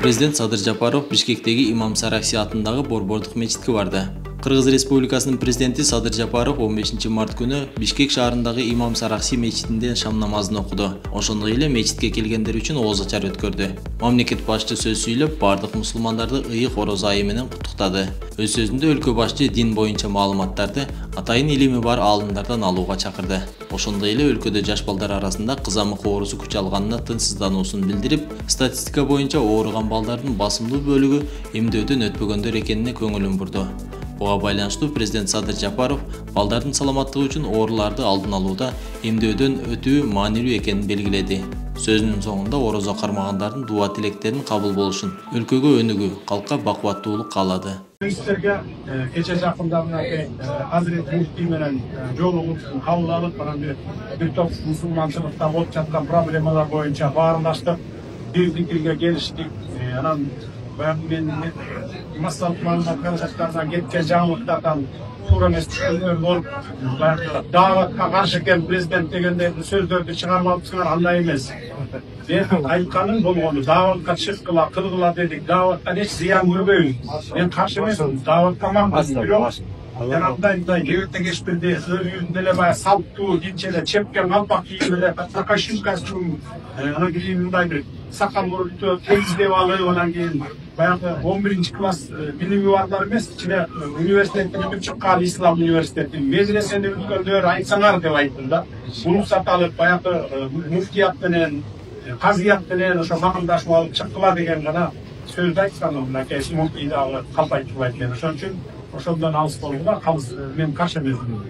Президент Садыр Жапаров Бишкектеги Имам Саракси атындагы Борбордук мечитке барды. Кыргыз Республикасынын президенти Садыр Жапаров 15 март күнү Бишкек шаарындагы Имам Саракси мечитинде шам намазын окуду. Ошондой эле мечитке келгендер үчүн ооз ачар өткөрдү. Мамлекет башчы сөз сүйлөп, бардык мусулмандарды ыйык ороз айы менен куттуктады. Өз сөзүндө өлкө башчы дин боюнча маалыматтарды атайын илими бар аалымдардан алууга чакырды. Ошондой эле өлкөдө жаш балдар арасында кызамык оорусу күч алганына тынчсыздануусун билдирип, статистика боюнча ооруган балдардын басымдуу бөлүгү эмдөөдөн өтпөгөндөр экенине көңүлүн бурду. Буга байланыштуу президент Садыр Жапаров балдардын саламаттыгы үчүн ооруларды алдын алууда эмдөөдөн өтүү маанилүү экенин белгиледи. Сөзүнүн соңунда орозо кармагандардын дуа тилектерин кабыл болушун, өлкөгө өнүгүү, калкка бакубаттуулук каалады. Сиздерге кече жакында Азирет Муфтий менен жолугуп, кабыл алып, бир топ мусулманчылыкта болуп жаткан проблемалар боюнча баарлаштык, бир пикирге келиштик. Анан мен массалык маалымат каражаттарынан кеткен жаңылыктардан туура эмес түшүнүүлөр болуп, дааватка каршы экен президент дегендей сөздөрдү чыгармалыпсыңар, андай эмес. Мен айтканым болгону дааватка чыккыла, кылгыла дедик. Дааваттан эч зыян көрбөйбүз. Мен каршы эмесмин. Дааватка мамлекет бирок андай кебекте кешпирди, өзүнүн эле баягы салттуу динче эле чепкен калпак кийип эле такашим костюм, анан кийин мындай бир сакал мурунту темиздеп алып, анан кийин баягы 11-класс билими барлар эмес, ичине университеттен өтүп чыккан ислам университетинин медресени бүткөндөр айтсаңар деп айттым да. Уруксат алып баягы муфтият менен, казыят менен ошо макулдашып алып чыккыла деген гана сөздү айткан. Мынакей муфтий дагы калп айтып экен. Ошон үчүн ошондон алыс болууга мен каршы эмесмин.